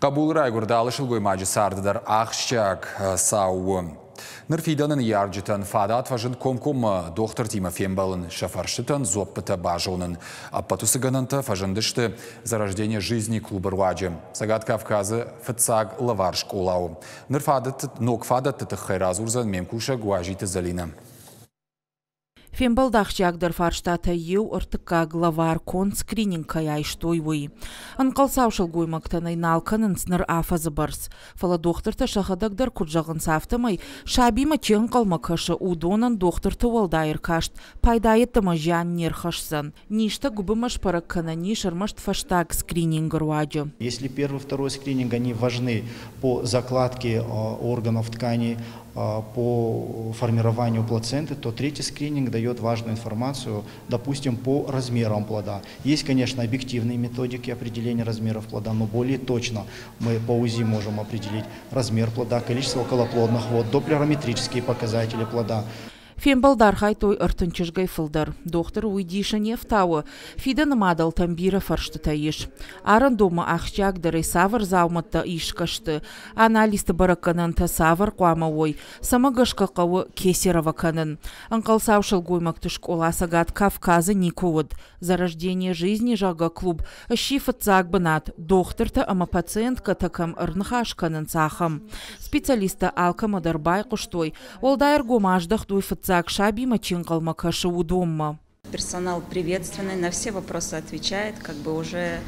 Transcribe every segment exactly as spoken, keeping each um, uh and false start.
Хъӕбулы райгуырд алы сылгоймаджы царды дӕр ахсджиаг цау у. Ныр фидӕны ныййарджытӕн фадат фӕзынд комкоммӕ дохтыртимӕ фембӕлын, сӕ фӕрстытӕн дзуӕппытӕ базонын. Ӕппӕт уыцы гӕнӕнтӕ фӕзындысты «Зарождение жизни» клубы руаджы. Цӕгат Кавказы фыццаг лӕвар скъола у. Ныр фадӕтты, ног фадӕтты тыххӕй радзурдзӕн ме мкусӕг Уазиты Зӕлинӕ. Фембӕлды ахсджиагдӕр фарстатӕй иу ӕртыккаг лӕвар конд скрининг кӕй айстой, уый. Ӕнхъӕлцау сылгоймӕгтӕн ӕй нал кӕнынц ныр афӕдзы бӕрц. Фӕлӕ дохтыртӕ сӕхӕдӕг дӕр куыд зӕгъынц, афтӕмӕй сабимӕ чи ӕнхъӕлмӕ кӕсы, уыдонӕн дохтырты уӕлдай ӕркаст пайда йеддӕмӕ зиан не рхӕсдзӕн. Низтӕ гуыбынмӕ сбӕрӕг кӕнӕн ис ӕрмӕст фӕстаг скринингы руаджы. Если первый, второй скрининг, они важны по закладке органов тканей, по формированию плаценты, то третий скрининг дает важную информацию, допустим, по размерам плода. Есть, конечно, объективные методики определения размеров плода, но более точно мы по УЗИ можем определить размер плода, количество околоплодных вод, доплерометрические показатели плода. Фембӕлды архайдтой ӕртын чызгӕй фылдӕр. Дохтыры уый дисы не фтауы. Фидӕны мадӕлтӕм бирӕ фӕрстытӕ ис. Арӕндонмӕ ахсджиагдӕрӕй цавӕр дзаумӕттӕ исгӕ сты, анализты бӕрӕггӕнӕнтӕ цавӕр хъуамӕ уой, цӕмӕ гӕсгӕ хъӕуы кесарево кӕнын. Ӕнхъӕлцау сылгоймӕгты скъола Цӕгат Кавказы никуы уыд. «Зарождение жизни», зӕгъгӕ, клуб сси фыццаг бынат, дохтыртӕ ӕмӕ пациенткӕтӕ кӕм ӕрныхас кӕнынц, ахӕм. Специалисттӕ алкӕмӕ дӕр байхъуыстой, уӕлдай ӕргом аздӕхтой фыццаг сабимӕ чи ӕнхъӕлмӕ кӕсы, уыдонмӕ. Персонал приветственный, на все вопросы отвечает, как бы уже,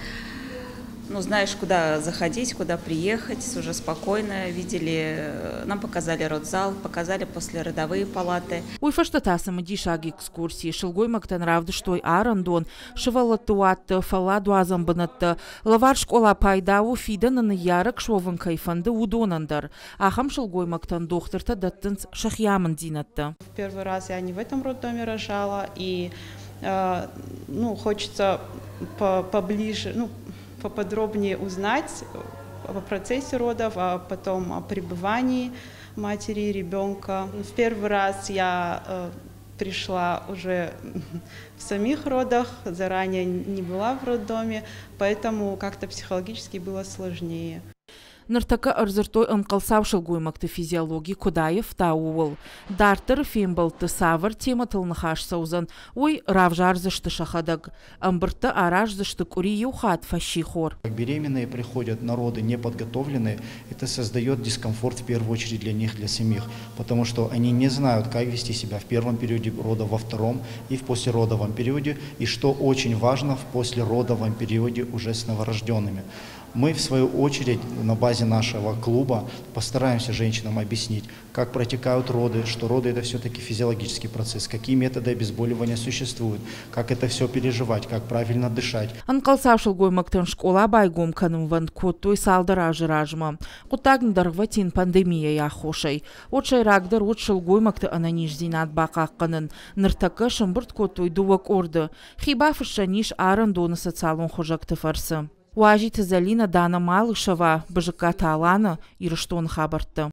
ну, знаешь, куда заходить, куда приехать, уже спокойно видели, нам показали родзал, показали послеродовые палаты. Уый фӕстӕ та цымыдисаг экскурси. Сылгоймӕгтӕн равдыстой арӕндон, сывӕллӕтты уатты, фӕлладуадзӕн бынӕттӕ. Лӕвар скъола пайда у, фидӕны ныййарӕг суӕвын кӕй фӕнды, уыдонӕн дӕр. Ахӕм сылгоймӕгтӕн дохтыртӕ дӕттынц сӕхи амынддзинӕдтӕ. Первый раз я не в этом роддоме рожала, и э, ну, хочется поближе, ну, поподробнее узнать о процессе родов, а потом о пребывании матери и ребенка. В первый раз я э, пришла уже в самих родах, заранее не была в роддоме, поэтому как-то психологически было сложнее. Ныртӕккӕ ӕрдзырдтой ӕнхъӕлцау сылгоймӕгты физиологи куыд аивта, ууыл. Дарддӕры фембӕлдты цавӕр темӕтыл ныхас цӕудзӕн, уый равзардзысты сӕхӕдӕг. Ӕмбырдтӕ араздзысты къуыри иу хатт фӕссихор. Беременные приходят на роды неподготовленные, это создает дискомфорт в первую очередь для них, для самих, потому что они не знают, как вести себя в первом периоде рода, во втором и в послеродовом периоде, и что очень важно, в послеродовом периоде уже с новорожденными. Мы, в свою очередь, на базе нашего клуба постараемся женщинам объяснить, как протекают роды, что роды – это все-таки физиологический процесс, какие методы обезболивания существуют, как это все переживать, как правильно дышать. Ӕнхъӕлцау сылгоймӕгтӕн скъола байгом кӕнынвӕнд кодтой цалдӕр азы размӕ. Хъуыддаг дӕргъвӕтин пандемийӕйы аххосӕй. Уӕд сӕйрагдӕр уыд сылгоймӕгты ӕнӕниздзинад бахъахъхъӕнын. Ныртӕккӕ сӕмбырд кодтой дыууӕ къорды. Хи бафыссӕн ис арӕндоны социалон хызӕгты фӕрцы. Уазиты Зӕлинӕ, Дана Малышева, Бызыккаты Алана, Ирыстоны хабӕрттӕ.